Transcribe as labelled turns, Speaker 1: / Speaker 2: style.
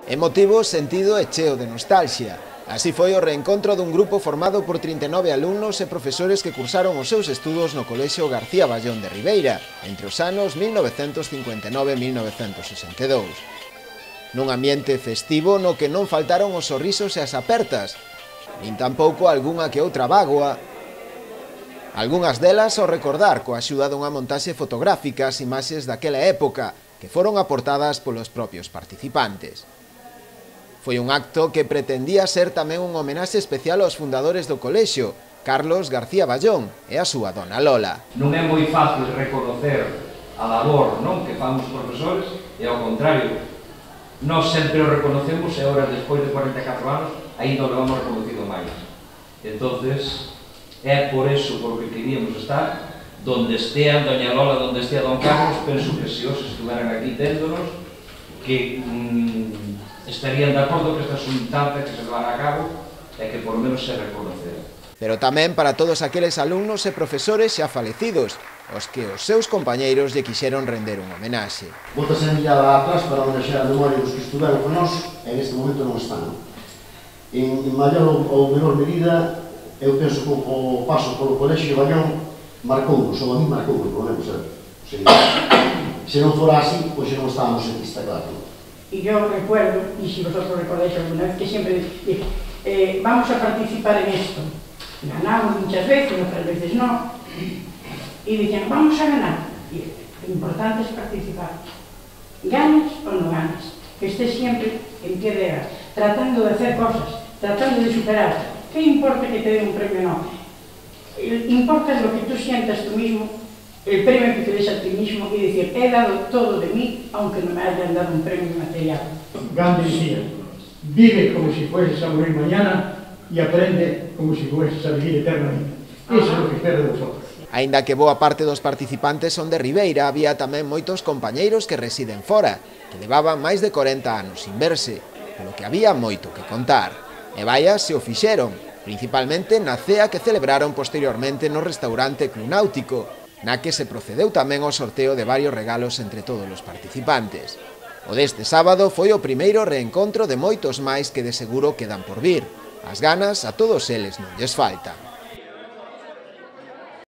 Speaker 1: Emotivo, sentido e cheo de nostalgia. Así foi o reencontro dun grupo formado por 39 alumnos e profesores que cursaron os seus estudos no Colexio García Ballón de Ribeira entre os anos 1959 e 1962. Nun ambiente festivo no que non faltaron os sorrisos e as apertas, nin tampouco algunha que outra bágoa, algunhas delas ao recordar coa axuda dunha montaxe fotográfica as imaxes daquela época que foron aportadas polos propios participantes. Foi un acto que pretendía ser tamén un homenaxe especial aos fundadores do colexio, Carlos García Ballón e a súa dona Lola.
Speaker 2: Non é moi fácil reconocer a labor que fan os profesores e ao contrario, nós sempre o reconocemos e agora, despois de 44 anos, ainda o levamos reconocido máis. Entonces, é por eso por que queríamos estar, donde estea doña Lola, donde estea don Carlos, penso que se os estuveran aquí téndonos, que estarían de acordo que esta xuntanza que se levara a cabo e que por menos se reconocera.
Speaker 1: Pero tamén para todos aqueles alumnos e profesores xa falecidos, os que os seus compañeiros lle quixeron render un homenaxe.
Speaker 3: Bótase a mirada atrás para homenaxear a memoria dos que estuveron con nós e neste momento non están. En maior ou menor medida, eu penso que o paso polo Colexio Ballón marcounos, ou a mí marcounos, por menos, se non fora así, pois non estábamos aquí, está claro.
Speaker 4: Y yo recuerdo, y si vosotros recordáis alguna vez, que siempre dije, vamos a participar en esto. Ganamos muchas veces, otras veces no. Y decían, vamos a ganar. Y lo importante es participar. Ganes o no ganes. Que estés siempre en pie de guerra, tratando de hacer cosas, tratando de superar. ¿Qué importa que te dé un premio no? Importa lo que tú sientas tú mismo, el premio que te des a ti mismo y decir, he dado todo de mí, aunque no me hayan dado un premio material.
Speaker 5: Gandhi decía, vive como si fueses a morir mañana y aprende como si fueses a vivir eternamente. Eso es lo que espero de vosotros.
Speaker 1: Aínda que boa parte dos participantes son de Ribeira, había tamén moitos compañeiros que residen fora, que levaban máis de 40 anos sin verse, polo que había moito que contar. E vaia se o fixeron, principalmente na cea que celebraron posteriormente no restaurante Club Náutico, na que se procedeu tamén ao sorteo de varios regalos entre todos os participantes. O deste sábado foi o primeiro reencontro de moitos máis que de seguro quedan por vir. As ganas a todos eles non lles faltan.